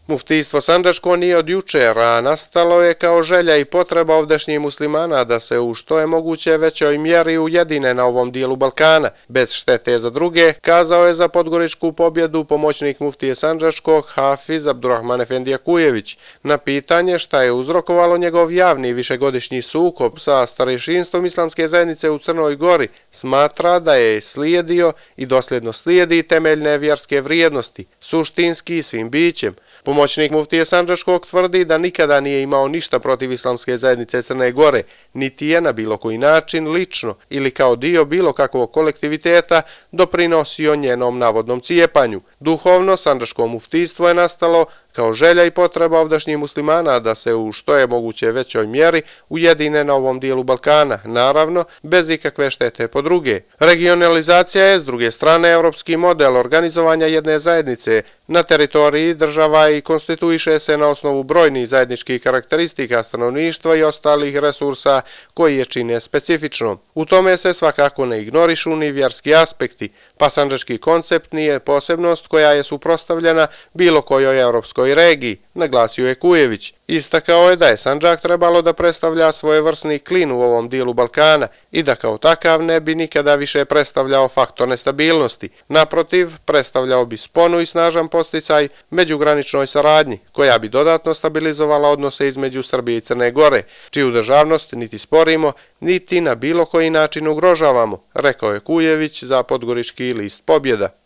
Muftijstvo sandžačko nije od jučer, a nastalo je kao želja i potreba ovdašnjih muslimana da se u što je moguće većoj mjeri ujedine na ovom dijelu Balkana, bez štete za druge, kazao je za podgoričku pobjedu pomoćnik muftije sandžačkog Hafiz Abdurrahman Efendija Kujević. Na pitanje šta je uzrokovalo njegov javni višegodišnji sukob sa starešinstvom islamske zajednice u Crnoj Gori, smatra da je slijedio i dosljedno slijedi temeljne vjerske vrijednosti, suštinski i svim bićem. Pomoćnik muftije sandžačkog tvrdi da nikada nije imao ništa protiv islamske zajednice Crne Gore, niti je na bilo koji način lično ili kao dio bilo kakvog kolektiviteta doprinosio njenom navodnom cijepanju. Duhovno sandžačko muftijstvo je nastalo kao želja i potreba ovdašnjih muslimana da se u što je moguće većoj mjeri ujedine na ovom dijelu Balkana, naravno bez ikakve štete po druge. Regionalizacija je s druge strane evropski model organizovanja jedne zajednice na teritoriji država i konstituiše se na osnovu brojnih zajedničkih karakteristika stanovništva i ostalih resursa koji je čine specifično. U tome se svakako ne ignorišu ni vjerski aspekti, pa sandžački koncept nije posebnost koja je suprotstavljena bilo kojoj evropskoj regiji, naglasio je Kujević. Istakao je da je Sandžak trebalo da predstavlja svojevrsni klin u ovom dijelu Balkana i da kao takav ne bi nikada više predstavljao faktor nestabilnosti. Naprotiv, predstavljao bi sponu i snažan podsticaj međugraničnoj saradnji, koja bi dodatno stabilizovala odnose između Srbije i Crne Gore, čiju državnost niti sporimo, niti na bilo koji način ugrožavamo, rekao je Kujević za podgorički list Pobjeda.